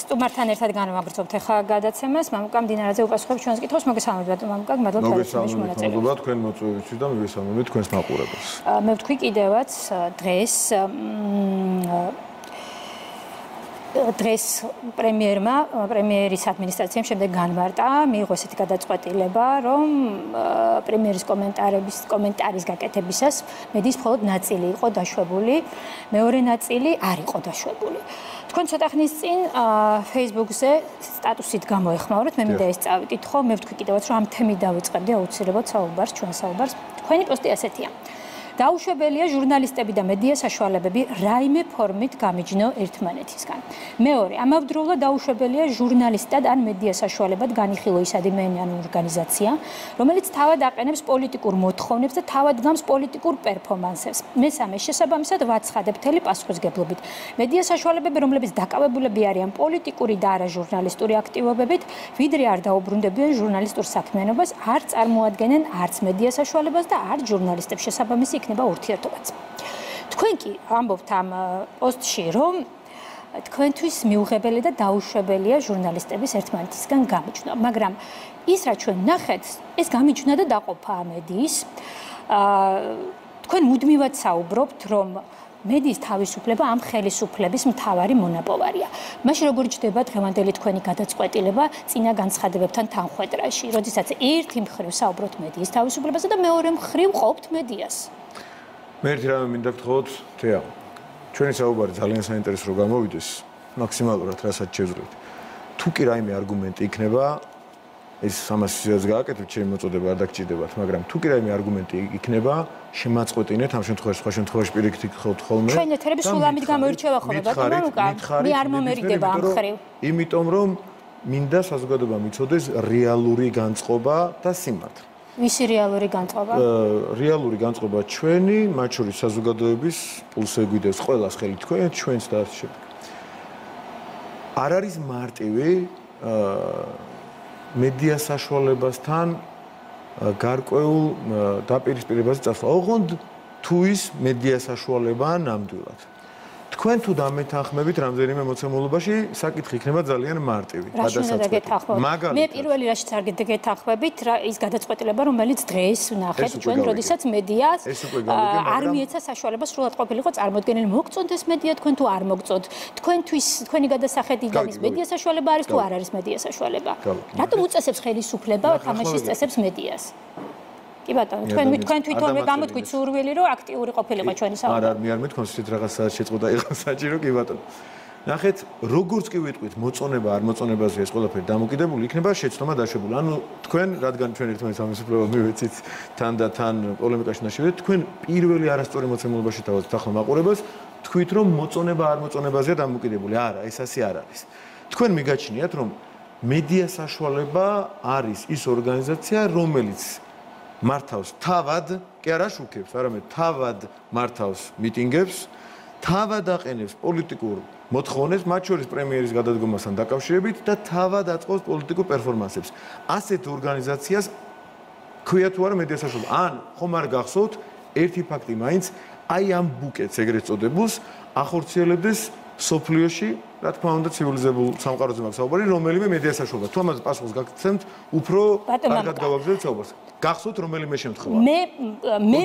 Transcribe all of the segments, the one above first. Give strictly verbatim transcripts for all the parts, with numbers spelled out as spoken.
სტუმართან ერთად განვაგრძობთ ახლა გადაცემას. მამუკა მდინარეზე უპასუხებს ჩვენს კითხვას. მოგესალმებით მამუკა, მადლობა თავის მონაწილეობისთვის თქვენ მოწვევისთვის და მოგესალმებით თქვენს მაყურებელს. მე ვთქვი კიდევაც დღეს დღეს პრემიერმა, პრემიერის ადმინისტრაციამ შემდეგ განმარტა, მიიღო ესეთი გადაწყვეტილება, რომ პრემიერის კომენტარების კომენტარის გაკეთებისას მედიის მხოლოდ ნაწილი იყო დაშვებული, მეორე ნაწილი არ იყო დაშვებული. თქვენ ცოტა ხნის წინ Facebook-ზე სტატუსით გამოეხმაურეთ, მე მინდა ეს წავიკითხო, მე ვთქვი კიდევაც, რომ ამ თემით დავიწყებდი აუცილებლად საუბარს, ჩვენ საუბარს. თქვენი პოსტი ასეთია. დაუშვებელია ჟურნალისტები და მედია საშუალებები რაიმე ფორმით გამიჯნო ერთმანეთისგან. მეორე, ამავდროულად დაუშვებელია ჟურნალისტად ან მედია საშუალებად განიხილო ის ადამიანი ან ორგანიზაცია, რომელიც თავად აყენებს პოლიტიკურ მოთხოვნებს და თავად გამს პოლიტიკურ პერფორმანსებს. მესამე, შესაბამისად ვაცხადებ მთელი პასუხისგებლობით. მედია საშუალებები, რომლებიც დაკავებულები არიან პოლიტიკური და არა ჟურნალისტური აქტივობებით, ვიდრე არ დაუბრუნდებიან ჟურნალისტურ საქმიანობას, არ წარმოადგენენ არც მედია საშუალებას და არც ჟურნალისტებს. შესაბამისი იქნება ურთიერთობაც. თქვენ კი ამბობთ ამ პოსტში, რომ თქვენთვის მიუღებელი და დაუშვებელია ჟურნალისტების ერთმანეთისგან გამიჯვნა, მაგრამ ის რაც ჩვენ ნახეთ, ეს გამიჯვნა და დაყოფა მედიის. თქვენ მუდმივად საუბრობთ, რომ მედიის თავისუფლება ამ ხელისუფლების მთავარი მონაპოვარია. მაშინ როგორ ჯდება დღევანდელი თქვენი გადაწყვეტილება წინა განცხადებებთან თანხვედრაში, როდესაც ერთი მხრივ საუბრობთ მედიის თავისუფლებაზე და მეორე მხრივ ყოფთ მედიას? მე ერთი რამე მინდა გთხოვოთ, თეა. ჩვენი საუბარი ძალიან საინტერესო რომ გამოვიდეს, მაქსიმალურად რასაც შევძლოთ. თუ კი რაიმე არგუმენტი იქნება, ეს ამას გააკეთებთ, ჩემი მოწოდება არ დაგჭირდებათ, მაგრამ თუ კი რაიმე არგუმენტი იქნება, შემაწყვეტინეთ ამ შემთხვევაში, სხვა შემთხვევაში პირიქით გთხოვთ ხოლმე. ჩვენ ეთერები სულ ამით გამოირჩევა ხოლმე, ბატონო მამუკა, მე არ მომერიდება ამ ხრივ. იმიტომ რომ მინდა საზოგადოებამ იცოდეს რეალური განწყობა და სიმართლე. ვისი რეალური განწყობა? რეალური განწყობა ჩვენი, მათ შორის საზოგადოების პულს ეგვიდევს ყველას ხელი თქვენ, ჩვენს და ასე შემდეგ. არ არის მარტივი მედია საშუალებასთან გარკვეულ დაპირისპირებაზე წასვლა. ოღონდ თუ ის მედია საშუალებაა ნამდვილად. თქვენ თუ დამეთანხმებით რამდენიმე მოცემულობაში, საკითხი იქნება ძალიან მარტივი. მე პირველი რაშიც არ გეთანხმებით, ის გადაწყვეტილება, რომელიც დღეს ვნახეთ ჩვენ, როდესაც მედიას არ მიეცა საშუალება სრულად ყოფილიყო წარმოდგენილი. მოგწონთ ეს მედია, თქვენ თუ არ მოგწონთ, თქვენთვის თქვენი გადასახედი ის მედია საშუალება არის თუ არ არის მედია საშუალება? რატომ უწესებს ხელისუფლება თამაშის წესებს მედიას? კი ბატონო, თქვენ თქვენ თვითონვე გამოთქვით სურვილი, რომ აქტიური ყოფილიყო ჩვენი საუბარი. არა, მე არ მეთქვამს ისეთ რაღაცა შეწყვეტა იყო საჭირო, კი ბატონო. ნახეთ, როგორც კი ვიტყვით, მოწონება არ მოწონებაზე ეს ყველაფერი დამოკიდებული იქნება შეცდომა დაშვებული. ანუ თქვენ, რადგან ჩვენ ერთმანეთს ამისუფლება მივეცით თან და თან პოლემიკაში ნაშევით, თქვენ პირველი არასწორი მოცემულობაში თავად ახლა მაყურებელს თქვით, რომ მოწონება არ მოწონებაზეა დამოკიდებული. არა, ეს ასე არ არის. თქვენ მიგაჩნიათ, რომ მედია საშუალება არის ის ორგანიზაცია, რომელიც მართავს თავად, კი არა შუქებს, არამედ თავად მართავს მიტინგებს, თავად აყენებს პოლიტიკურ მოთხოვნებს, მათ შორის პრემიერის გადადგომასთან დაკავშირებით და თავად აწყობს პოლიტიკურ პერფორმანსებს. ასეთ ორგანიზაციას ქვია თუ არა მედია საშუალება. ან ხომ არ გახსოვთ, ერთი ფაქტი მაინც, აი ამ ბუკეტს ეგრეთ წოდებულს ახორციელებდეს სოფლიოში, რა თქმა უნდა, ცივილიზებულ სამყაროზე მაქვს საუბარი, რომელიმე მედია საშუალება. თუ ამაზე პასუხს გაგცემთ, უფრო კარგად გავაგრძელებთ საუბარს. გახსოვთ რომელიმე შემთხვევა? მე მე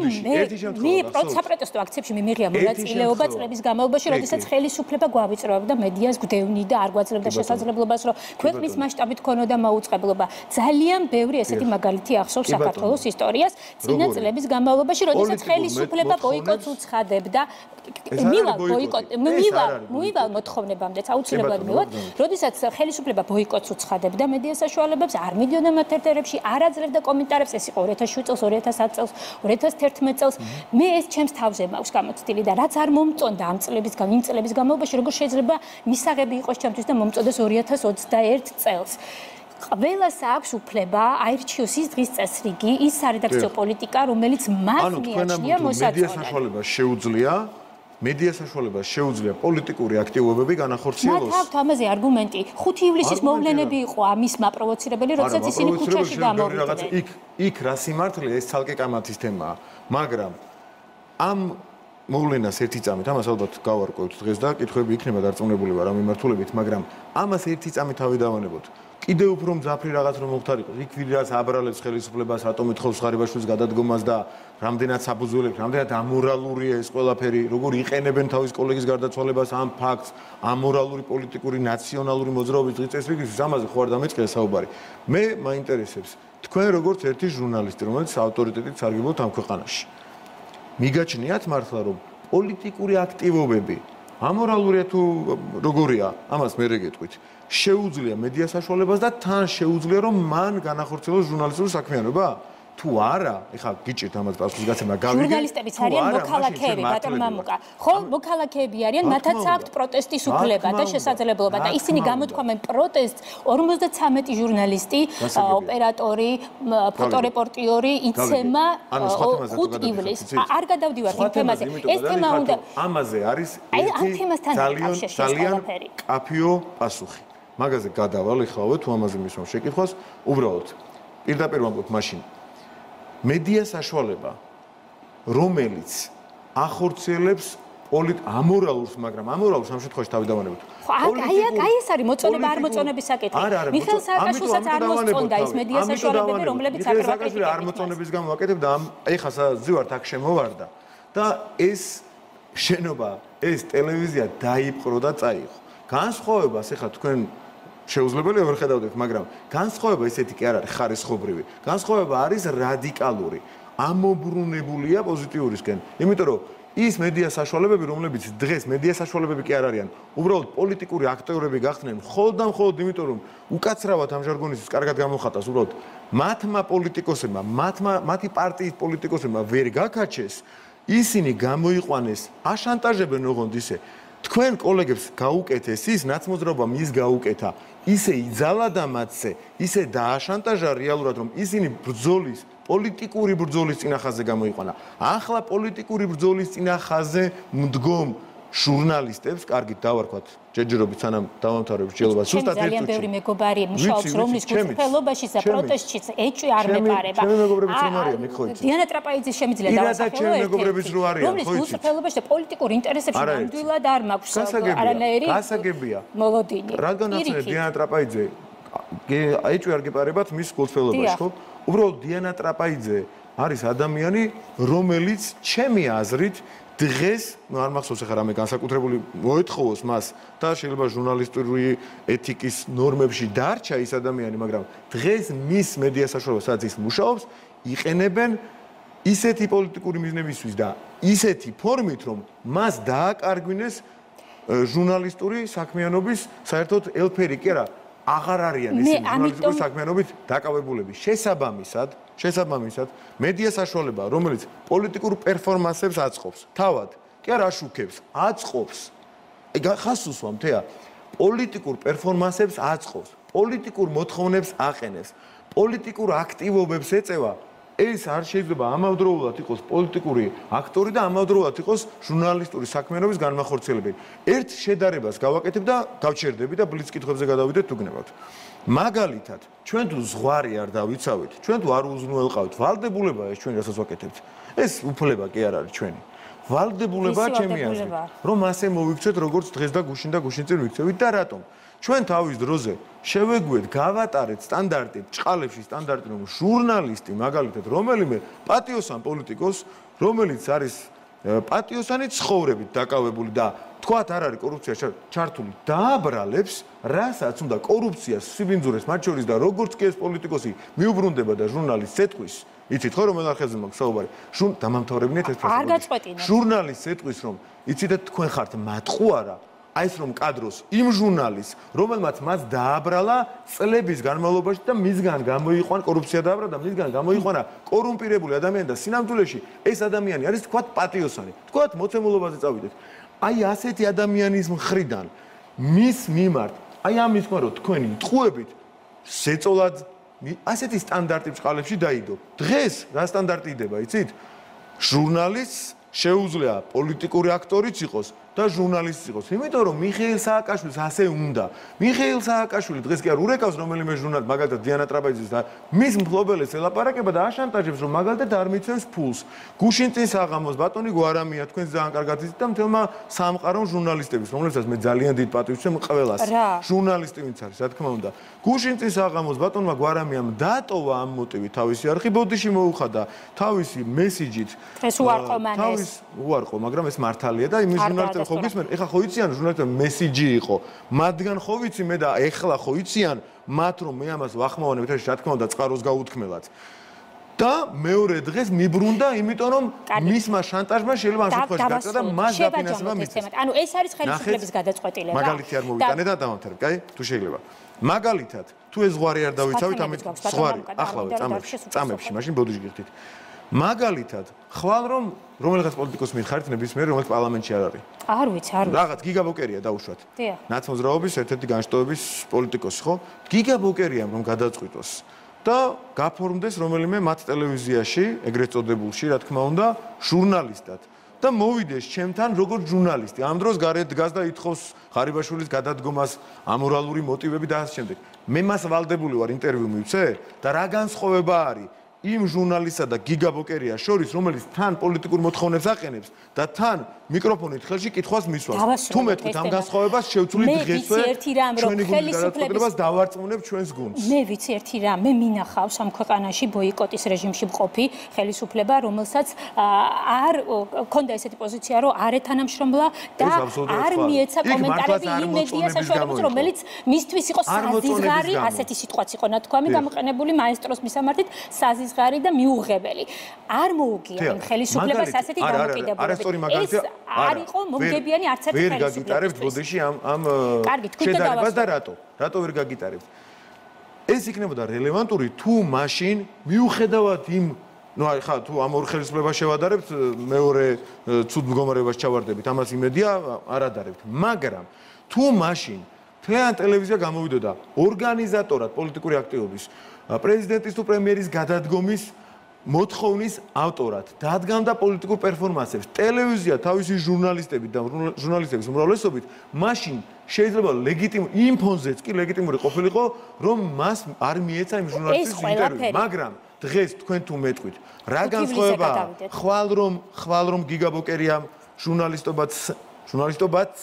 მე საპროტესტო აქციებში მიმიღია მონაწილეობა წლების განმავლობაში, როდესაც ხელისუფლება გვავიწროვებდა მედიას გვდევნი და არ გვაძლევდა შესაძლებლობას, რომ ქვეყნის მასშტაბით ქონოდა მაუწყებლობა. ძალიან ბევრი ესეთი მაგალითი ახსოვს საქართველოს ისტორიას წინა წლების განმავლობაში, როდესაც ხელისუფლება ბოიკოტს უცხადებდა. მივალ ბოიკოტ მივალ მივალ მოთხოვნებამდე აუცილებლად მივალ, როდესაც ხელისუფლება ბოიკოტს უცხადებდა მედია საშუალებებს, არ მიდიოდა მათ ეთერებში, არ აძლევდა კომენტარებს, ეს იყო ორი ათას შვიდ წელს, ორი ათას ათ წელს, ორი ათას თერთმეტ წელს. მე ეს ჩემს თავზე მაქვს გამოცდილი და რაც არ მომწონდა ამ წლების იმ წლების განმავლობაში, როგორ შეიძლება მისაღები იყოს ჩემთვის და მომწონდეს ორი ათას ოცდაერთ წელს. ყველას აქვს უფლება აირჩიოს ის დღის წესრიგი, ის სარედაქციო პოლიტიკა, რომელიც მას მიაჩნია მოსაწონად. მედია საშუალება შეუძლია მედია საშუალებას შეუძლია პოლიტიკური აქტივობები განახორციელოს. მათ აქვთ ამაზე არგუმენტი. ხუთი ივლისის მოვლენები იყო ამის მაპროვოცირებელი, როდესაც ისინი ქუჩაში გამოვიდნენ. იქ იქ რა სიმართლე ეს ცალკე კამათის თემაა, მაგრამ ამ მოვლენას ერთი წამით, ამას ალბათ გავარკვევთ დღეს და კითხვები იქნება დარწმუნებული ვარ ამ მიმართულებით, მაგრამ ამას ერთი წამით თავი დავანებოთ. კიდევ უფრო მძაფრი რაღაც რომ მოხდარიყოს. იქ ვიდრას აბრალებს ხელისუფლებას, რატომ ეთხოვს ღარიბაშვილის გადადგომას და რამდენად საბუძველებს, რამდენად ამორალურია ეს ყველაფერი, როგორ იყენებენ თავის კოლეგის გარდაცვალებას ამ ფაქტს, ამორალური პოლიტიკური ნაციონალური მოძრაობის დღის წესრიგისთვის, ამაზე ხო არ დამეწყია საუბარი. მე მაინტერესებს თქვენ როგორც ერთი ჟურნალისტი, რომელიც ავტორიტეტით სარგებლობთ ამ ქვეყანაში. მიგაჩნიათ მართლა რომ პოლიტიკური აქტივობები ამორალურია თუ როგორია, ამას მე რეგეთყვით. შეუძლია მედია საშუალებას და თან შეუძლია რომ მან განახორციელოს ჟურნალისტური საქმიანობა? თუ არა, ეხლა გიჭირთ ამას პასუხის გაცემა გავიგე. ჟურნალისტებიც არიან მოქალაქეები, ბატონ მამუკა. ხო, მოქალაქეები არიან, მათაც აქვთ პროტესტის უფლება და შესაძლებლობა და ისინი გამოთქვამენ პროტესტს. ორმოცდათვრამეტი ჟურნალისტი, ოპერატორი, ფოტორეპორტიორი იცემა ხუთ ივლისს. არ გადავდივართ იმ თემაზე. ეს თემა უნდა ამაზე არის ერთი ძალიან ძალიან კაფეო პასუხი. მაგაზე გადავალ ეხლავე თუ ამაზე მისვამ შეკითხვას, უბრალოდ პირდაპირ ვამბობ მაშინ მედია საშუალება, რომელიც ახორციელებს პოლიტ ამორალურს, მაგრამ ამორალურს ამ შემთხვევაში თავი დავანებოთ. აი აი ეს არის მოწონება არ მოწონების საკითხი. მიხეილ სააკაშვილსაც არ მოსწონდა ის მედია საშუალებები, რომლებიც აკრიტიკებდა. არ მოწონების გამო აკეთებდა ამ ეხლა ზივართ აქ შემოვარდა და ეს შენობა, ეს ტელევიზია დაიპყრო და წაიღო. განსხვავებას ეხლა თქვენ შეუძლებელია ვერ ხედავდეთ, მაგრამ განსხვავება ისეთი კი არ არის ხარისხობრივი. განსხვავება არის რადიკალური. ამობრუნებულია პოზიტიურისკენ. იმიტომ რომ ის მედია საშუალებები, რომლებიც დღეს მედია საშუალებები კი არ არიან, უბრალოდ პოლიტიკური აქტიორები გახდნენ მხოლოდ და მხოლოდ იმიტომ რომ უკაცრავად ამ ჟარგონისთვის კარგად გამოხატავს, უბრალოდ მათმა პოლიტიკოსებმა, მათმა მათი პარტიის პოლიტიკოსებმა ვერ გაკაჩეს, ისინი გამოიყვანეს, აშანტაჟებენ ოღონდ ისე თქვენ კოლეგებს გაუკეთეს ის ნაცმოძრაობა მის გაუკეთა ისე იძალა და მათზე ისე დააშანტაჟა რეალურად რომ ისინი ბრძოლის პოლიტიკური ბრძოლის წინახაზე გამოიყვანა ახლა პოლიტიკური ბრძოლის წინახაზე მდგომ ჟურნალისტებს კარგით დავარქვათ ჯერჯერობით სანამ დავამთავრებ მსჯელობას ზუსტად ერთ ძალიან ბევრი მეგობარი მუშაობს რომლის გულწრფელობაში და პროტესტში ეჭვი არ მეპარება ჩემი მეგობრებიც რომ არიან მე ხო იცი დიანა ტრაპაიძის შემიძლია დავასახელო ჩემი მეგობრებიც რო არიან ხო იცი რომლის გულწრფელობაში და პოლიტიკურ ინტერესებში ნამდვილად არ მაქვს არანაირი გასაგებია მოლოდინი რადგან ახლა დიანა ტრაპაიძე ეჭვი არ გეპარებათ მის გულწრფელობაში ხო უბრალოდ დიანა ტრაპაიძე არის ადამიანი რომელიც ჩემი აზრით დღეს, ну არ მახსოვს ახლა რამე განსაკუთრებული მოეთხოვოს მას და შეიძლება ჟურნალისტური ეთიკის ნორმებში დარჩა ის ადამიანი, მაგრამ დღეს მის მედია საშუალებას სადაც ის მუშაობს, იყენებენ ისეთი პოლიტიკური მიზნებისთვის და ისეთი ფორმით, რომ მას დააკარგვინეს ჟურნალისტური საქმიანობის საერთოდ ელფერი კი არა, აღარ არიან ისინი ჟურნალისტური საქმიანობით დაკავებულები. შესაბამისად შესაბამისად მედია საშუალება რომელიც პოლიტიკურ პერფორმანსებს აწყობს თავად კი არა აშუქებს აწყობს აი ხას უსვამ თეა პოლიტიკურ პერფორმანსებს აწყობს პოლიტიკურ მოთხოვნებს აყენებს პოლიტიკურ აქტივობებს ეწევა ეს არ შეიძლება ამავდროულად იყოს პოლიტიკური აქტორი და ამავდროულად იყოს ჟურნალისტური საქმიანობის განმახორციელებელი ერთ შედარებას გავაკეთებ და გავჩერდები და ბლიც კითხვებზე გადავიდეთ თუ გნებავთ მაგალითად, ჩვენ თუ ზღვარი არ დავიცავით, ჩვენ თუ არ უზრუნველყავთ, ვალდებულებაა ეს ჩვენ რასაც ვაკეთებთ. ეს უფლება კი არ არის ჩვენი. ვალდებულებაა ჩემი აზრით, რომ ასე მოვიქცეთ, როგორც დღეს და გუშინ და გუშინ წინ ვიქცევით და რატომ? ჩვენ თავის დროზე შევეგუეთ, გავატარეთ სტანდარტი, ჭყალებში სტანდარტი, რომ ჟურნალისტი, მაგალითად, რომელიმე პატიოსან პოლიტიკოს, რომელიც არის პატიოსანი ცხოვრებით დაკავებული და თქვათ არ არის კორუფცია ჩართული დააბრალებს რასაც უნდა კორუფციას სიბინძურეს მათ შორის და როგორც კი ეს პოლიტიკოსი მიუბრუნდება და ჟურნალისტს ეთქვის იცით ხო რომ ახალ ხეზე მაქვს საუბარი შურ დამამთავრებინეთ ეს პროცესი არ გაწყვეტინე ჟურნალისტს ეთქვის რომ იცით თქვენ ხართ მატყუ არა აი ეს რომ კადროს იმ ჟურნალისტს რომელმაც მას დააბრალა წლების განმავლობაში და მისგან გამოიყვან კორუფცია დააბრალა და მისგან გამოიყვანა კორუმპირებული ადამიანი და სინამდვილეში ეს ადამიანი არის თქვათ პატიოსანი თქვათ მოცემულობაზე წავიდეთ აი ასეთი ადამიანის მხრიდან მის მიმართ აი ამის თქვა რომ თქვენი ტყუებით შეწოლად ასეთი სტანდარტი ბჭყალებში დაიდო დღეს რა სტანდარტი იდება იცით ჟურნალისტს შეუძლია პოლიტიკური აქტორიც იყოს და ჟურნალისტი იყოს. იმიტომ რომ მიხეილ სააკაშვილს ასე უნდა. მიხეილ სააკაშვილი დღეს კი არ ურეკავს რომელიმე ჟურნალისტ, მაგალითად დიანა ტრაპეზის და მის მფლობელებს ელაპარაკება და აშანტაჟებს, რომ მაგალითად არ მიცემს ფულს. გუშინ წინ საღამოს ბატონი გვარამია თქვენს ძალიან კარგად იცით და მთელმა სამყარომ ჟურნალისტების, რომლებსაც მე ძალიან დიდ პატივს ვცემ ყველას. ჟურნალისტი ვინც არის, რა თქმა უნდა. გუშინ წინ საღამოს ბატონმა გვარამიამ დატოვა ამ მოტივით თავისი არხი, ბოდიში მოუხადა თავისი მესიჯით. ეს უარყო მან ეს. თავის უარყო, მაგრამ ეს მართალია და იმის ჟურნალისტები ხო გისმენ, ეხლა ხო იციან ჟურნალისტები მესიჯი იყო. მათგან ხო ვიცი მე და ეხლა ხო იციან მათ რომ მე ამას ვახმოვანებ და რა თქმა უნდა წყაროს გაუთქმელად. და მეორე დღეს მიბრუნდა, იმიტომ რომ მისმა შანტაჟმა შეიძლება ამ შემთხვევაში გაწვა და მას დაფინანსება მისცეს. ანუ ეს არის ხელისუფლების გადაწყვეტილება. მაგალითი არ მოვიტანე და დავამთავრებ, კაი? თუ შეიძლება. მაგალითად, თუ ეს ზღვარი არ დავიცავით, ამით ზღვარი ახლავე წამებში, წამებში, მაშინ ბოდიში გიხდით. მაგალითად, ხვალ რომ რომელიღაც პოლიტიკოს მითხარით ნებისმიერ, რომელიც პარლამენტში არ არის. არ ვიცი, არ ვიცი. რაღაც გიგა ბოკერია დაუშვათ. ნაცმოძრაობის ერთ-ერთი განშტოების პოლიტიკოსი, ხო? გიგა ბოკერიამ რომ გადაწყვიტოს და გაფორმდეს რომელიმე მათ ტელევიზიაში, ეგრეთ წოდებულში, რა თქმა უნდა, ჟურნალისტად და მოვიდეს ჩემთან როგორც ჟურნალისტი. ამ დროს გარეთ დგას და ითხოვს ღარიბაშვილის გადადგომას, ამორალური მოტივები და ასე შემდეგ. მე მას ვალდებული ვარ ინტერვიუ მივცე და რა განსხვავება არის იმ ჟურნალისტსა და გიგა ბოკერიას შორის, რომელიც თან პოლიტიკურ მოთხოვნებს აყენებს და თან მიკროფონით ხელში კითხვას მისვავს. თუ მეტყვით ამ განსხვავებას შევცვლით დღესვე ჩვენი გუნდის გადაწყვეტილებას დავარწმუნებ ჩვენს გუნდს. მე ვიცი ერთი რამ, მე მინახავს ამ ქვეყანაში ბოიკოტის რეჟიმში მყოფი ხელისუფლება, რომელსაც არ ქონდა ესეთი პოზიცია, რომ არ ეთანამშრომლა და არ მიეცა კომენტარები იმ მედია საშუალებებს, რომელიც მისთვის იყო საზიზღარი, ასეთი სიტყვაც იყო ნათქვამი გამოყენებული მაესტროს მისამართით, საზიზღარი და მიუღებელი. არ მოუგია იმ ხელისუფლებას ასეთი დამოკიდებულებით. არ იყო მომგებიანი არც ერთი ხელისუფლება. ვერ გაგიტარებთ ბოდიში ამ ამ შედარებას და რატო? რატო ვერ გაგიტარებთ? ეს იქნებოდა რელევანტური თუ მაშინ მიუხედავად იმ ну ხა თუ ამ ორ ხელისუფლებას შევადარებთ მეორე ცუდ მდგომარეობას ჩავარდებით ამას იმედია არ ადარებთ მაგრამ თუ მაშინ თლიან ტელევიზია გამოვიდოდა ორგანიზატორად პოლიტიკური აქტივობის პრეზიდენტის თუ პრემიერის გადადგომის მოთხოვნის ავტორად დადგამდა პოლიტიკურ პერფორმანსებს ტელევიზია თავისი ჟურნალისტებით და ჟურნალისტების უმრავლესობით მაშინ შეიძლება ლეგიტიმური იმ ფონზეც კი ლეგიტიმური ყოფილიყო რომ მას არ მიეცა იმ ჟურნალისტის ინტერვიუ მაგრამ დღეს თქვენ თუ მეტყვით რა განსხვავება ხვალ რომ ხვალ რომ გიგა ბოკერიამ ჟურნალისტობაც ჟურნალისტობაც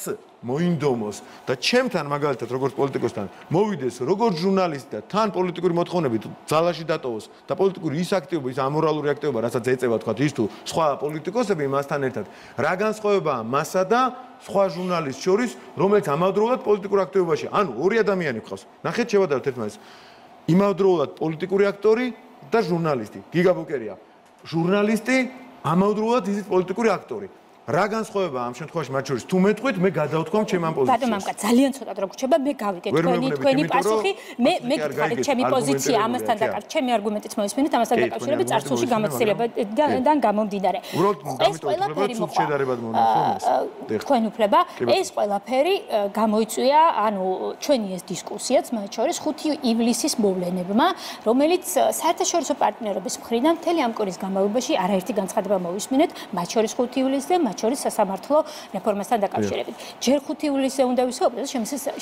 მოინდომოს და ჩემთან მაგალითად როგორც პოლიტიკოსთან მოვიდეს როგორც ჟურნალისტი და თან პოლიტიკური მოთხოვნებით ძალაში დატოვოს და პოლიტიკური ის აქტივობა ის ამორალური აქტივობა რასაც ეწევა თქვა ის თუ სხვა პოლიტიკოსები მასთან ერთად რა განსხვავებაა მასა და სხვა ჟურნალისტ შორის რომელიც ამავდროულად პოლიტიკურ აქტივობაში ანუ ორი ადამიანი გყავს ნახეთ შევადაროთ ერთმანეთს იმავდროულად პოლიტიკური აქტორი და ჟურნალისტი გიგა ბოკერია ჟურნალისტი ამავდროულად ისიც პოლიტიკური აქტორი რა განსხვავება ამ შემთხვევაში მათ შორის თუ მეტყვით მე გადავთქვამ ჩემ ამ პოზიციას. ბატონო მამკაც ძალიან ცოტა დრო გრჩება მე გავიგე თქვენი თქვენი პასუხი მე მე გითხარით ჩემი პოზიცია ამასთან დაკავშირებით ჩემი არგუმენტიც მოისმინეთ ამასთან დაკავშირებით წარსულში გამოცდილებიდან გამომდინარე. ეს ყველაფერი მოხდა თქვენ უფლება ეს ყველაფერი გამოიწვია ანუ ჩვენი ეს დისკუსიაც მათ შორის ხუთი ივლისის მოვლენებმა რომელიც საერთაშორისო პარტნიორობის მხრიდან მთელი ამ კვირის განმავლობაში არაერთი განცხადება მოვისმინეთ მათ შორის ხუთი ივლისზე შორის სასამართლო რეფორმასთან დაკავშირებით. ჯერ ხუთი ივლისზე უნდა ვისაუბროთ,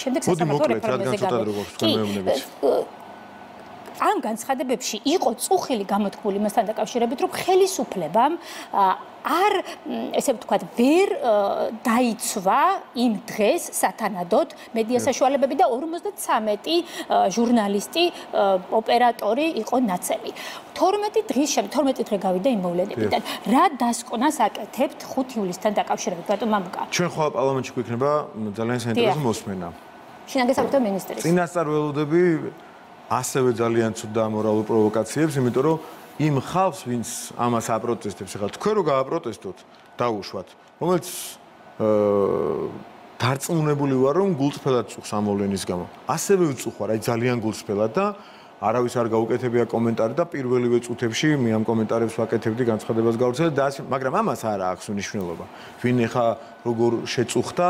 შემდეგ სასამართლო რეფორმაზე გამოვიდეთ. ამ განცხადებებში იყო წუხილი გამოთქმული მასთან დაკავშირებით, რომ ხელისუფლებამ არ ესე ვთქვათ, ვერ დაიცვა იმ დღეს სათანადოდ მედია საშუალებები და ორმოცდათვრამეტი ჟურნალისტი, ოპერატორი იყო ნაცემი. თორმეტი დღის შემდეგ, თორმეტი დღე გავიდა იმ მოვლენებიდან. რა დასკვნას აკეთებთ ხუთი ივლისთან დაკავშირებით, ბატონ მამუკა? ჩვენ ხვალ პარლამენტში გვექნება ძალიან საინტერესო მოსმენა. შინაგან საქმეთა მინისტრის. წინასწარ ველოდები ასევე ძალიან ცუდ და ამორალურ პროვოკაციებს, იმიტომ რომ იმ ხალხს, ვინც ამას აპროტესტებს, ახლა თქვენ რო გააპროტესტოთ, დაუშვათ, რომელიც დარწმუნებული ვარ, რომ გულწრფელად წუხს ამ მოვლენის გამო. ასევე ვწუხარ, აი ძალიან გულწრფელად და არავის არ გაუკეთებია კომენტარი და პირველივე წუთებში მე ამ კომენტარებს ვაკეთებდი განცხადებას გავრცელებ და მაგრამ ამას არ აქვს მნიშვნელობა. ვინ ეხა როგორ შეწუხდა,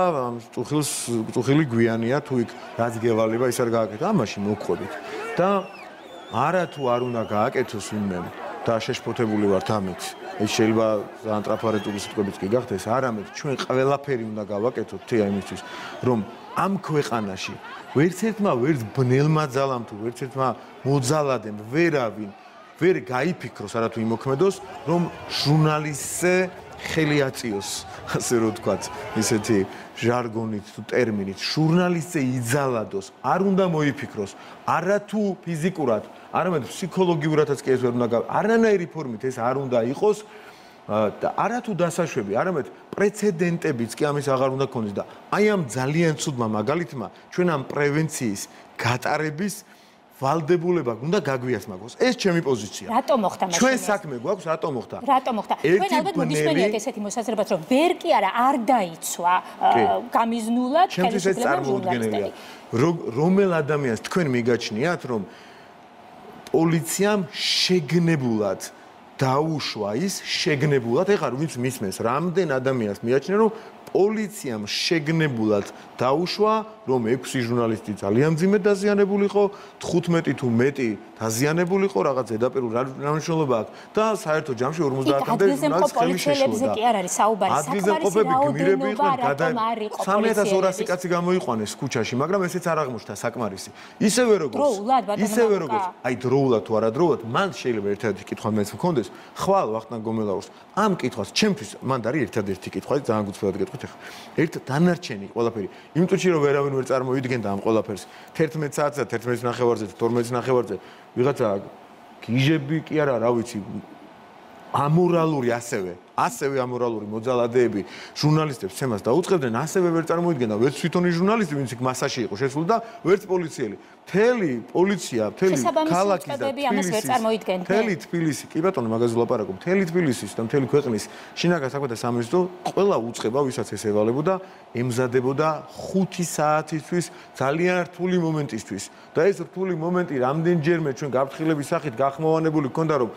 წუხილს წუხილი გვიანია თუ იქ რაც გევალება ის არ გააკეთა, ამაში მოგვყვებით. და არა თუ არ უნდა გააკეთოს ვინმე და შეშფოთებული ვართ ამით. ეს შეიძლება ძალიან ტრაფარეტული სიტყვებიც კი გახდეს, არამედ ჩვენ ყველაფერი უნდა გავაკეთოთ თეა იმისთვის, რომ ამ ქვეყანაში ვერც ერთმა ვერც ბნელმა ძალამ თუ ვერც ერთმა მოძალადემ ვერავინ ვერ გაიფიქროს არა თუ იმოქმედოს, რომ ჟურნალისტზე ხელი აწიოს, ასე რომ ვთქვათ, ისეთი ჟარგონით თუ ტერმინით, ჟურნალისტზე იძალადოს, არ უნდა მოიფიქროს, არა თუ ფიზიკურად, არამედ ფსიქოლოგიურადაც კი ეს ვერ უნდა გავა. არანაირი ფორმით ეს არ უნდა იყოს და არა თუ დასაშვები, არამედ პრეცედენტებიც კი ამის აღარ უნდა ქონდეს და აი ამ ძალიან ცუდმა მაგალითმა ჩვენ ამ პრევენციის გატარების ვალდებულება უნდა გაგვიასმაგოს. ეს ჩემი პოზიცია. რატო მოხდა მაშინ? ჩვენ საქმე გვაქვს, რატო მოხდა? რატო მოხდა? ჩვენ ალბათ მოგისმენიათ ესეთი მოსაზრებაც, რომ ვერ კი არა არ დაიცვა გამიზნულად ხელისუფლება ჟურნალისტები. რომელ ადამიანს თქვენ მიგაჩნიათ, რომ პოლიციამ შეგნებულად დაუშვა ის შეგნებულად, ეხლა ვინც მისმენს, რამდენ ადამიანს მიაჩნია, რომ პოლიციამ შეგნებულად დაუშვა, რომ ექვსი ჟურნალისტი ძალიან მძიმედ დაზიანებული იყო, თხუთმეტი თუ მეტი დაზიანებული იყო, რაღაც ზედაპირულ მნიშვნელობა აქვს და საერთო ჯამში ორმოცდაათამდე ჟურნალისტს ხელი შეშლოდა. კი არ არის საუბარი, საკმარისი რაოდენობა რატომ არ იყო პოლიციაში? სამი ათას ორასი კაცი გამოიყვანეს ქუჩაში, მაგრამ ესეც არ აღმოჩნდა საკმარისი. ისევე როგორც ისევე როგორც აი დროულად თუ არა დროულად, მან შეიძლება ერთადერთი კითხვა მეც მქონდეს, ხვალ ვახტანგ გომელაურს ამ კითხვას ჩემთვის მან არის ერთადერთი კითხვა, ძალიან გულწრფელად გეტყვით ახლა. ერთ დანარჩენი ყველაფერი, იმ წუთში რომ ვერავინ ვერ წარმოიდგენდა ამ ყველაფერს, თერთმეტ საათზე, თერთმეტ ნახევარზე, თორმეტ ნახევარზე ვიღაცა გიჟები კი არა, რა ვიცი, ამორალური ასევე, ასევე ამორალური მოძალადეები ჟურნალისტებს ცემას დაუწყებდნენ, ასევე ვერ წარმოიდგენდა ვერც თვითონი ჟურნალისტი, ვინც იქ მასაში იყო შესული და ვერც პოლიციელი. მთელი პოლიცია, მთელი ქალაქი და თბილისი, მთელი თბილისი, კი ბატონო, მაგაზე ვლაპარაკობ, მთელი თბილისის და მთელი ქვეყნის შინაგან საქმეთა სამინისტრო ყველა უწყება, ვისაც ეს ევალებოდა, ემზადებოდა ხუთი საათისთვის ძალიან რთული მომენტისთვის. და ეს რთული მომენტი რამდენჯერმე ჩვენ გაფრთხილების სახით გახმოვანებული გქონდა, რომ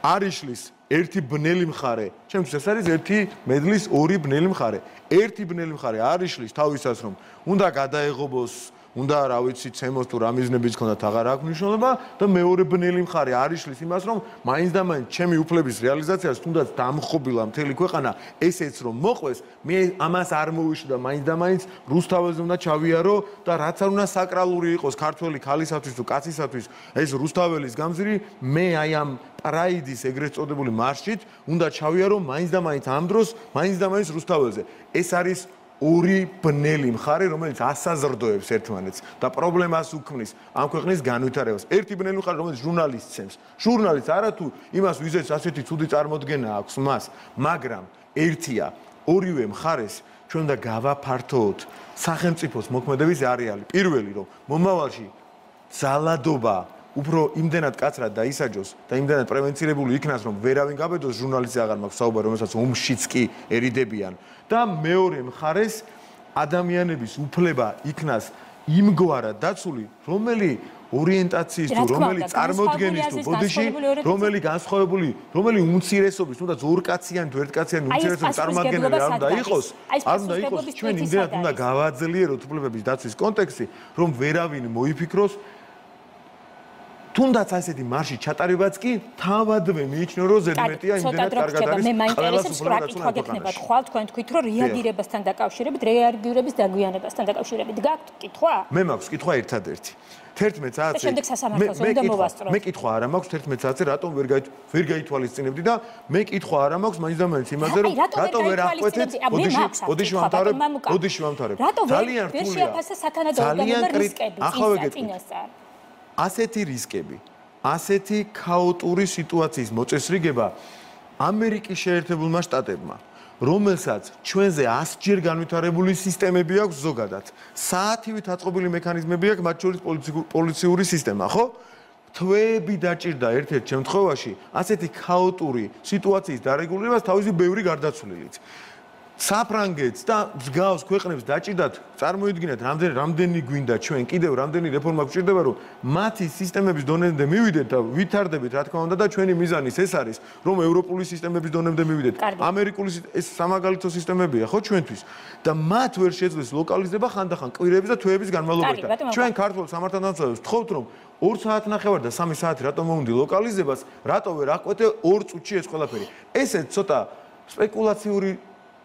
არიშლის ერთი ბნელი მხარე, ჩემთვის ეს არის ერთი მედლის ორი ბნელი მხარე. ერთი ბნელი მხარე არიშლის თავისას, რომ უნდა გადაეღობოს, უნდა რა ვიცი, ცემოს თუ რა მიზნებიც ქონდათ, აღარ აქვს მნიშვნელობა და მეორე ბნელი მხარე არიშლის იმას, რომ მაინც და მაინც ჩემი უფლების რეალიზაციას თუნდაც დამხობილა მთელი ქვეყანა, ესეც რომ მოყვეს, მე ამას არ მოვიშვი და მაინც და მაინც რუსთაველზე უნდა ჩავიარო და რაც არ უნდა საკრალური იყოს ქართველი ქალისათვის თუ კაცისათვის, ეს რუსთაველის გამზირი, მე აი ამ პრაიდის ეგრეთ წოდებული მარშით უნდა ჩავიარო მაინც და მაინც ამ დროს, მაინც და მაინც რუსთაველზე. ეს არის ორი ბნელი მხარე, რომელიც ასაზრდოებს ერთმანეთს და პრობლემას უქმნის ამ ქვეყნის განვითარებას. ერთი ბნელი მხარე, რომელიც ჟურნალისტს ცემს. ჟურნალისტს არა თუ იმას ვიზეც ასეთი ცუდი წარმოდგენა აქვს მას, მაგრამ ერთია, ორივე მხარეს ჩვენ უნდა გავაფართოოთ სახელმწიფოს მოქმედების არეალი. პირველი, რომ მომავალში ძალადობა უფრო იმდენად კაცრად დაისაჯოს და იმდენად პრევენცირებული იქნას, რომ ვერავინ გაბედოს ჟურნალისტზე აღარ მაქვს საუბარი, რომელსაც ომშიც კი ერიდებიან. და მეორე მხარეს ადამიანების უფლება იქნას იმგვარად დაცული, რომელი ორიენტაციის თუ რომელი წარმოდგენის თუ ბოდიში, რომელი განსხვავებული, რომელი უმცირესობის, თუნდაც ორკაციანი თუ ერთკაციანი უმცირესობის წარმოადგენელი არ უნდა იყოს, არ უნდა იყოს, ჩვენ იმდენად უნდა გავაძლიეროთ უფლებების დაცვის კონტექსტი, რომ ვერავინ მოიფიქროს თუნდაც ასეთი მარში ჩატარებაც კი თავადვე მიიჩნეო, რომ ზედმეტია იმდენად კარგად არის. მე მაინტერესებს რა კითხვა გექნებათ ხვალ თქვენ თქვით, რომ რეაგირებასთან დაკავშირებით, რეაგირების დაგვიანებასთან დაკავშირებით გაქვთ კითხვა? მე მაქვს კითხვა ერთადერთი. თერთმეტ საათზე. და შემდეგ სასამართლოს უნდა მოვასწროთ. მე კითხვა არა მაქვს თერთმეტ საათზე, რატომ ვერ ვერ გაითვალისწინებდი და მე კითხვა არა მაქვს მაინც და მაინც იმაზე, რომ რატომ ვერ აღკვეთეთ? ოდიში ვამთავრებ, ოდიში ვამთავრებ. ძალიან რთულია. ვერ შეაფასა სათანადო ორგანოთა რისკები, წინასწარ. ასეთი რისკები, ასეთი ქაოტური სიტუაციის მოწესრიგება ამერიკის შეერთებულმა შტატებმა, რომელსაც ჩვენზე ასჯერ განვითარებული სისტემები აქვს ზოგადად, საათივით აწყობილი მექანიზმები აქვს, მათ შორის პოლიციური სისტემა, ხო? თვეები დაჭირდა ერთ-ერთ შემთხვევაში ასეთი ქაოტური სიტუაციის დარეგულირებას თავისი ბევრი გარდაცვლილით. საფრანგეთს და მსგავს ქვეყნებს დაჭირდათ წარმოიდგინეთ რამდენი რამდენი გვინდა ჩვენ კიდევ რამდენი რეფორმა გვჭირდება რომ მათი სისტემების დონემდე მივიდეთ და ვითარდებით რა თქმა უნდა და ჩვენი მიზანის ეს არის რომ ევროპული სისტემების დონემდე მივიდეთ ამერიკული ეს სამაგალითო სისტემებია ხო ჩვენთვის და მათ ვერ შეძლეს ლოკალიზება ხანდახან კვირების და თვეების განმავლობაში ჩვენ ქართულ სამართალდამცავებს ვთხოვთ რომ ორ საათნახევარ და სამი საათი რატომ მოუნდი ლოკალიზებას რატო ვერ აყვეთე ორ წუთში ეს ყველაფერი ესეც ცოტა სპეკულაციური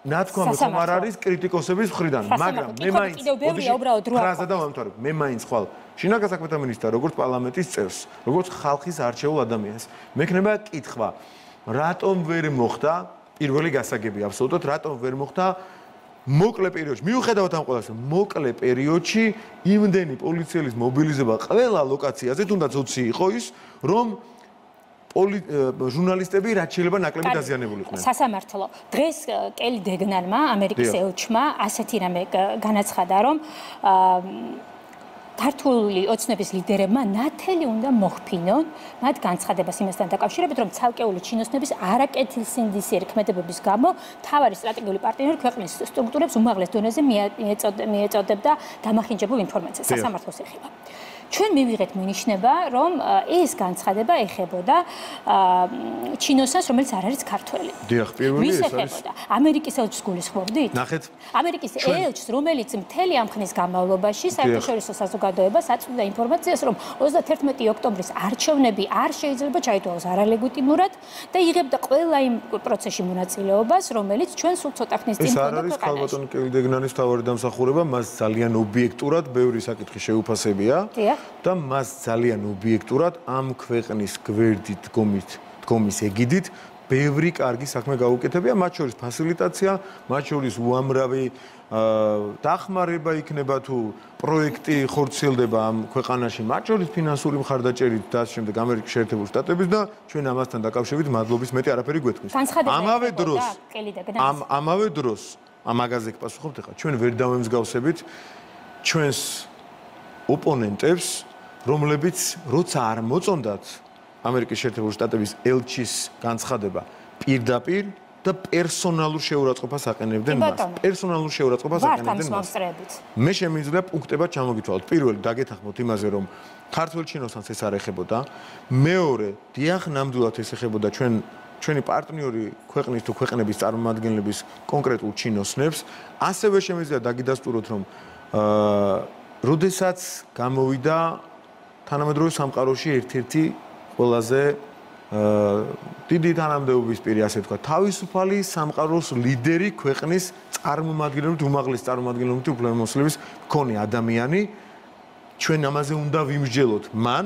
ნათქვამი ხომ არ არის კრიტიკოსების მხრიდან, მაგრამ მე მაინც ფრაზა და ვამთავრებ, მე მაინც ხვალ შინაგან საქმეთა მინისტრად, როგორც პარლამენტის წევრს, როგორც ხალხის არჩეულ ადამიანს, მექნება კითხვა, რატომ ვერ მოხდა პირველი გასაგები აბსოლუტურად, რატომ ვერ მოხდა მოკლე პერიოდში, მიუხედავად ამ ყველას, მოკლე პერიოდში იმდენი პოლიციელის მობილიზება ყველა ლოკაციაზე, თუნდაც ოცი იყო ის, რომ ჟურნალისტები რაც შეიძლება ნაკლები დაზიანებულიყვნენ. სასამართლო. დღეს კელი დეგნარმა, ამერიკის ელჩმა, ასეთი რამე განაცხადა, რომ ქართული ოცნების ლიდერებმა ნათელი უნდა მოხფინონ მათ განცხადებას იმასთან დაკავშირებით, რომ ცალკეული ჩინოსნების არაკეთილსინდისიერი ქმედებების გამო მთავარი სტრატეგიული პარტნიორი ქვეყნის სტრუქტურებს უმაღლეს დონეზე მიეწოდებდა დამახინჯებულ ინფორმაციას. სასამართლოს ეხება. ჩვენ მივიღეთ მინიშნება, რომ ეს განცხადება ეხებოდა ჩინოსას, რომელიც არ არის ქართველი. დიახ, პირველი ეს არის. ამერიკის ელჩს გულისხმობდით? ნახეთ. ამერიკის ელჩს, რომელიც მთელი ამ ხნის განმავლობაში საერთაშორისო საზოგადოებას აწვდიდა ინფორმაციას, რომ ოცდაათერთმეტი ოქტომბრის არჩევნები არ შეიძლება ჩაითვალოს არალეგიტიმურად და იღებდა ყველა იმ პროცესში მონაწილეობას, რომელიც ჩვენ სულ ცოტა ხნის წინ ჰქონდა ქვეყანაში. ეს არ არის ხალბატონ კელდეგნანის თავარი დამსახურება, მას ძალიან ობიექტურად ბევრი საკითხი შეუფასებია. დიახ. და მას ძალიან ობიექტურად ამ ქვეყნის გვერდით დგომით დგომის ეგიდით ბევრი კარგი საქმე გაუკეთებია, მათ შორის ფასილიტაცია, მათ შორის უამრავი დახმარება იქნება თუ პროექტი ხორციელდება ამ ქვეყანაში, მათ შორის ფინანსური მხარდაჭერით და ამ შემდეგ ამერიკის შეერთებული შტატების და ჩვენ ამასთან დაკავშირებით მადლობის მეტი არაფერი გვეთქმის. ამავე დროს ამ ამავე დროს ამ მაგაზე გპასუხობთ ახლა ჩვენ ვერ დავემსგავსებით ჩვენს ოპონენტებს, რომლებიც როცა არ მოწონდათ ამერიკის შეერთებული შტატების ელჩის განცხადება პირდაპირ და პერსონალურ შეურაცხყოფას აყენებდნენ მას. პერსონალურ შეურაცხყოფას აყენებდნენ მას. მე შემიძლია პუნქტებად ჩამოგითვალოთ. პირველი დაგეთანხმოთ იმაზე, რომ ქართველ ჩინოსანს ეს არ ეხებოდა. მეორე, დიახ, ნამდვილად ეს ეხებოდა ჩვენ ჩვენი პარტნიორი ქვეყნის თუ ქვეყნების წარმომადგენლების კონკრეტულ ჩინოსნებს. ასევე შემიძლია დაგიდასტუროთ, რომ აა როდესაც გამოვიდა თანამედროვე სამყაროში ერთ-ერთი ყველაზე დიდი თანამდებობის პირი, ასე ვთქვათ, თავისუფალი სამყაროს ლიდერი ქვეყნის წარმომადგენლობით, უმაღლეს წარმომადგენლობით უფლებამოსილების მქონე ადამიანი, ჩვენ ამაზე უნდა ვიმსჯელოთ. მან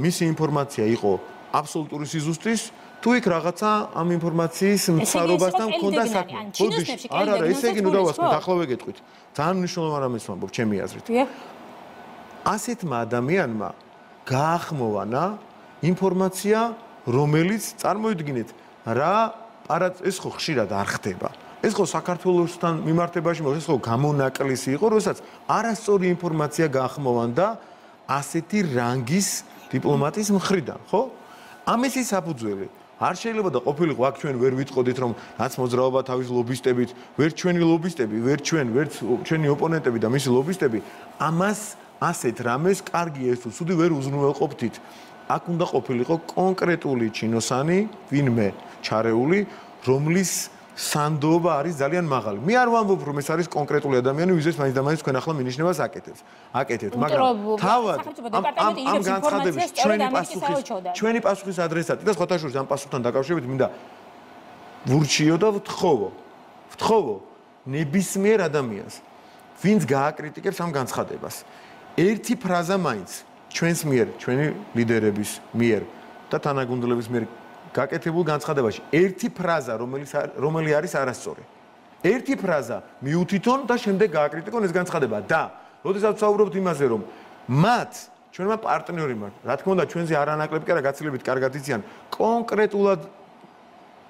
მისი ინფორმაცია იყო აბსოლუტური სიზუსტის, თუ იქ რაღაცა ამ ინფორმაციის მცდარობასთან მქონდა საქმე. არა, არა, ესე იგი ნუ დავასწროთ, ახლა ვეგეთყვით. ძალიან მნიშვნელოვანი რამეს ვამბობ ჩემი აზრით. ასეთმა ადამიანმა გაახმოვანა ინფორმაცია, რომელიც წარმოიდგინეთ, რა ეს ხო ხშირად არ ხდება. ეს ხო საქართველოსთან მიმართებაში, ეს ხო გამონაკლისი იყო, როდესაც არასწორი ინფორმაცია გაახმოვანდა ასეთი რანგის დიპლომატის მხრიდან, ხო? ამის ის საფუძველი არ შეიძლება და ყოფილიყო აქ ჩვენ ვერ ვიტყოდით რომ რაც მოძრაობა თავის ლობისტებით, ვერ ჩვენი ლობისტები, ვერ ჩვენ, ვერ ჩვენი ოპონენტები და მისი ლობისტები, ამას ასეთ რამეს კარგი ეს თუ ცუდი ვერ უზრუნველყოფთით. აქ უნდა ყოფილიყო კონკრეტული ჩინოსანი, ვინმე ჩარეული, რომლის სანდოობა არის ძალიან მაღალი. მე არ ვამბობ რომ ეს არის კონკრეტული ადამიანი, ვიზეს მაინც და მაინც თქვენ ახლა მინიშნებას აკეთებს. აკეთებთ, მაგრამ თავად ამ ამ განცხადების ჩვენი პასუხის ჩვენი პასუხის ადრესატი და სხვათა შორის ამ პასუხთან დაკავშირებით მინდა ვურჩიო და ვთხოვო. ვთხოვო ნებისმიერ ადამიანს, ვინც გააკრიტიკებს ამ განცხადებას. ერთი ფრაზა მაინც ჩვენს მიერ, ჩვენი ლიდერების მიერ და თანაგუნდელების მიერ გაკეთებულ განცხადებაში ერთი ფრაზა, რომელიც რომელი არის არასწორი. ერთი ფრაზა მიუთითონ და შემდეგ გააკრიტიკონ ეს განცხადება და როდესაც ვსაუბრობთ იმაზე, რომ მათ ჩვენმა პარტნიორებმა, რა თქმა უნდა, ჩვენზე არანაკლები კი არა გაცილებით კარგად იციან კონკრეტულად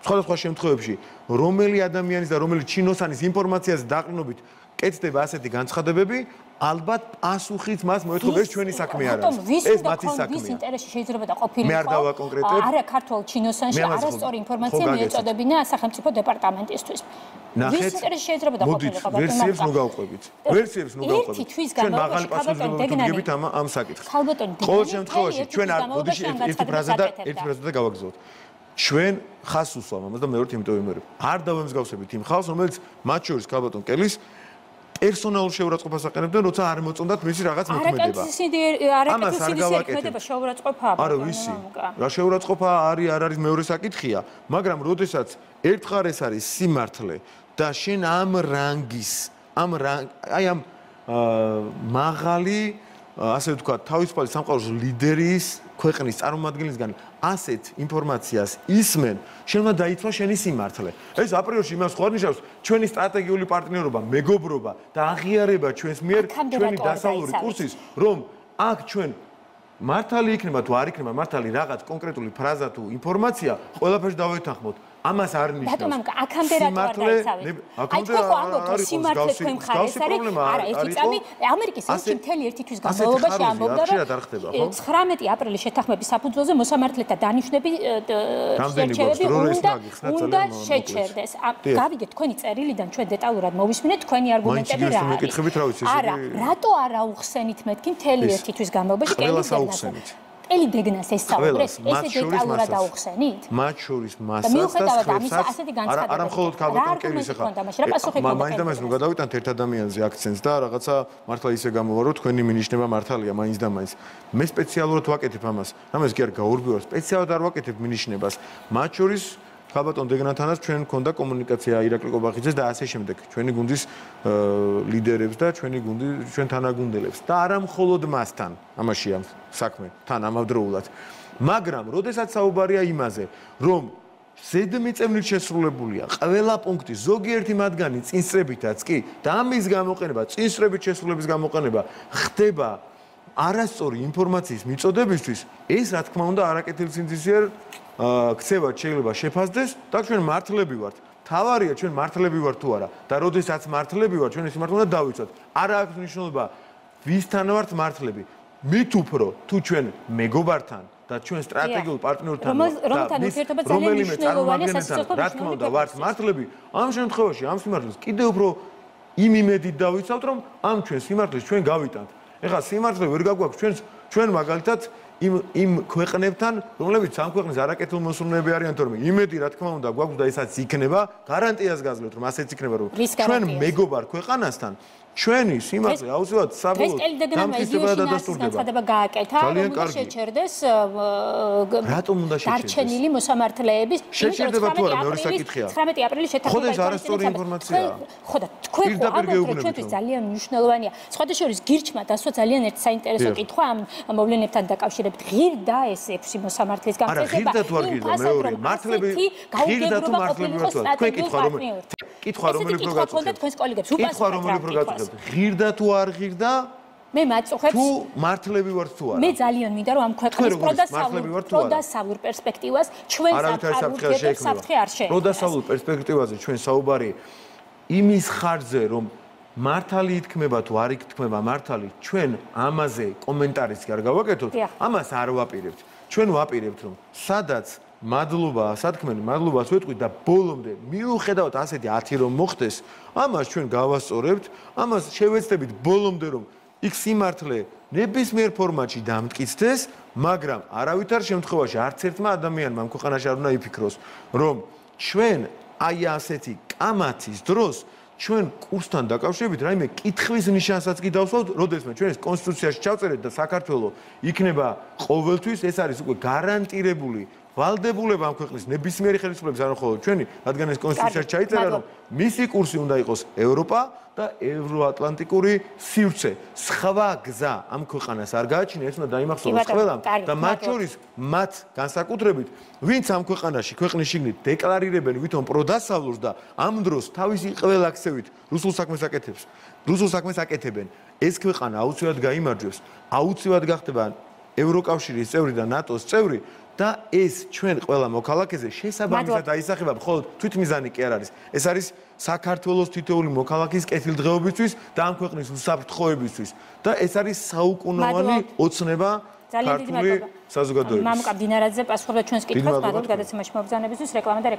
სხვადასხვა შემთხვევებში, რომელი ადამიანის და რომელი ჩინოსანის ინფორმაციას დაყრდნობით კეთდება ასეთი განცხადებები, ალბათ პასუხიც მას მოეთხოვა ეს ჩვენი საქმე არ არის. ეს მათი საქმეა. ვის ინტერესში შეიძლება და ყოფილიყო? მე არ დავაკონკრეტებ. არა ქართულ ჩინოსანში არასწორი ინფორმაცია მიეწოდებინა სახელმწიფო დეპარტამენტისთვის. ვის ინტერესში შეიძლება და ყოფილიყო? მოდით ვერსიებს ნუ გავყვებით. ვერსიებს ნუ გავყვებით. ერთი თვის განმავლობაში ქალბატონ დეგნანი ამ ამ საკითხს. ქალბატონ დეგნანი ყოველ შემთხვევაში ჩვენ არ მოდიში ერთი ფრაზა და ერთი ფრაზა და გავაგზავნოთ. ჩვენ ხას უსვამ ამას და მეორე იმიტომ ვიმეორებ. არ დავემსგავსებით იმ ხალხს, რომელიც მათ შორის ქალბატონ კელის პერსონალურ შეურაცხყოფას აყენებდნენ, როცა არ მოწონდათ მისი რაღაც მოქმედება. ამას არ გავაკეთებ. შეურაცხყოფაა. არა, ვიცი. რა შეურაცხყოფა არის, არ არის მეორე საკითხია, მაგრამ როდესაც ერთხარ ეს არის სიმართლე და შენ ამ რანგის, ამ აი ამ მაღალი, ასე ვთქვათ, თავისუფალი სამყაროს ლიდერის, ქვეყნის წარმომადგენლისგან ასეთ ინფორმაციას ისმენ, შენ უნდა დაიცვა შენი სიმართლე. ეს აპრიორში იმას ხო არ ნიშნავს, ჩვენი სტრატეგიული პარტნიორობა, მეგობრობა და აღიარება ჩვენს მიერ ჩვენი დასავლური კურსის, რომ აქ ჩვენ მართალი იქნება თუ არ იქნება მართალი რაღაც კონკრეტული ფრაზა თუ ინფორმაცია, ყველაფერს დავეთანხმოთ. ამას არ ნიშნავს. ბატონო, აქამდე რატო არ დაიცავეთ? აი თქვენ ხო ამბობთ, რომ სიმართლე თქვენ მხარეს არის? არა, ერთი წამი ამერიკის ელჩი მთელი ერთი თვის განმავლობაში ამბობდა, რომ ცხრამეტი აპრილის შეთანხმების საფუძველზე მოსამართლეთა დანიშვნები შერჩევები უნდა შეჩერდეს. გავიგეთ თქვენი წერილიდან ჩვენ დეტალურად მოვისმინეთ თქვენი არგუმენტები რა არის. არა, რატო არ აუხსენით მეთქი მთელი ერთი თვის განმავლობაში კელის დეგნას? ელი დეგნას ესწავლეთ, ესე დეტალურად აუხსენით? მათ შორის მასას და ხმებსაც არა მხოლოდ ქალბატონ კელის ახლა. მაინც და მაინც ნუ გადავიტანთ ერთ ადამიანზე აქცენტს და რაღაცა მართლა ისე გამოვა, რომ თქვენი მინიშნება მართალია მაინც და მაინც. მე სპეციალურად ვაკეთებ ამას. რამეს კი არ გაურბიო, სპეციალურად არ ვაკეთებ მინიშნებას. მათ შორის ქალბატონ დეგნათანაც ჩვენ გქონდა კომუნიკაცია ირაკლი კობახიძეს და ასე შემდეგ. ჩვენი გუნდის ლიდერებს და ჩვენი გუნდი ჩვენ თანაგუნდელებს და არა მხოლოდ მასთან. ამაშია საქმე, თან ამავდროულად. მაგრამ, როდესაც საუბარია იმაზე, რომ ზედმიწევნით შესრულებულია ყველა პუნქტი, ზოგიერთი მათგანი წინსწრებითაც კი და ამის გამოყენება, წინსწრებით შესრულების გამოყენება ხდება არასწორი ინფორმაციის მიწოდებისთვის, ეს რა თქმა უნდა არაკეთილ სინდისიერ ქცევად შეიძლება შეფასდეს და ჩვენ მართლები ვართ. თავარია ჩვენ მართლები ვართ თუ არა და როდესაც მართლები ვართ, ჩვენ ეს მართლა უნდა დავიცვათ. არა აქვს მნიშვნელობა ვისთან ვართ მართლები. მით უფრო თუ ჩვენ მეგობართან და ჩვენ სტრატეგიულ პარტნიორთან და რომელიმე წარმომადგენელთან რა თქმა უნდა ვართ მართლები, ამ შემთხვევაში ამ სიმართლეს კიდევ უფრო იმ იმედით დავიცავთ, რომ ამ ჩვენ სიმართლეს ჩვენ გავიტანთ. ეხლა სიმართლე ვერ გაგვაქვს ჩვენს ჩვენ მაგალითად იმ იმ ქვეყნებთან, რომლებიც ამ ქვეყნის არაკეთილ მოსურნეები არიან, თორემ იმედი რა თქმა უნდა გვაქვს და ესაც იქნება, გარანტიას გაძლევთ, რომ ასეც იქნება, რომ ჩვენ მეგობარ ქვეყანასთან ჩვენი სიმართლე აუცილებლად საბოლოოდ დამტკიცება და დადასტურდება. განცხადება გააკეთა, რომ უნდა შეჩერდეს რატომ უნდა შეჩერდეს? დარჩენილი მოსამართლეების შეჩერდება თუ არა მეორე საკითხია. ცხრამეტი აპრილის შეთანხმება. ხო და ეს არასწორი ინფორმაციაა. ხო და თქვენ ხო ამბობთ, ჩვენთვის ძალიან მნიშვნელოვანია. სხვადასხვა გირჩმა დასვა ძალიან ერთ საინტერესო კითხვა ამ მოვლენებთან დაკავშირებით. ღირდა ეს ექვსი მოსამართლის გამწესება. არა, ღირდა თუ არ ღირდა მეორე მართლები ღირდა თუ მართლები ვართ. თქვენ კითხვა რომ კითხვა რომელი პრო გაწუხებთ? თქვენს კოლეგებს უპასუხებთ. კითხვა რომელი პრო გაწუხებთ? ღირდა თუ არ ღირდა? მე მაწუხებს თუ მართლები ვართ თუ არა? მე ძალიან მინდა რომ ამ ქვეყნის პროდასავლურ პერსპექტივას ჩვენ საფრთხე არ შეექმნას. პროდასავლურ პერსპექტივაზე ჩვენ საუბარი იმის ხარჯზე რომ მართალი ითქმება თუ არ ითქმება მართალი, ჩვენ ამაზე კომენტარიც კი არ გავაკეთოთ, ამას არ ვაპირებთ. ჩვენ ვაპირებთ რომ სადაც მადლობა, სათქმელი მადლობას ვეთქვით და ბოლომდე მიუხედავად ასეთი ათი რომ მოხდეს, ამას ჩვენ გავასწორებთ, ამას შევეცდებით ბოლომდე რომ იქ სიმართლე ნებისმიერ ფორმატში დამტკიცდეს, მაგრამ არავითარ შემთხვევაში არც ერთმა ადამიანმა ამ ქვეყანაში არ უნდა იფიქროს, რომ ჩვენ აი ასეთი კამათის დროს ჩვენ კურსთან დაკავშირებით რაიმე კითხვის ნიშანსაც კი დავსვავთ, როდესაც ჩვენ ეს კონსტიტუციაში ჩავწერეთ და საქართველოს იქნება ყოველთვის ეს არის უკვე გარანტირებული ვალდებულება ამ ქვეყნის ნებისმიერი ხელისუფლების არ მხოლოდ ჩვენი, რადგან ეს კონსტიტუციაში ჩაიწერა, რომ მისი კურსი უნდა იყოს ევროპა და ევროატლანტიკური სივრცე. სხვა გზა ამ ქვეყანას არ გააჩნია, ეს უნდა დაიმახსოვროს ყველამ და მათ შორის მათ განსაკუთრებით, ვინც ამ ქვეყანაში ქვეყნის შიგნით დეკლარირებენ ვითომ პროდასავლურს და ამ დროს თავისი ყველა ქცევით რუსულ საქმეს აკეთებს, რუსულ საქმეს აკეთებენ, ეს ქვეყანა აუცილებლად გაიმარჯვებს, აუცილებლად გახდება ევროკავშირის წევრი და ნატოს წევრი და ეს ჩვენ ყველა მოქალაქეზე შესაბამისად აისახება მხოლოდ თვითმიზანი კი არ არის. ეს არის საქართველოს თითოეული მოქალაქის კეთილდღეობისთვის და ამ ქვეყნის უსაფრთხოებისთვის და ეს არის საუკუნოვანი ოცნება ქართული საზოგადოების. მამუკა დინარაძე პასუხობდა ჩვენს კითხვას, მადლობა გადაცემაში მობრძანებისთვის, რეკლამა და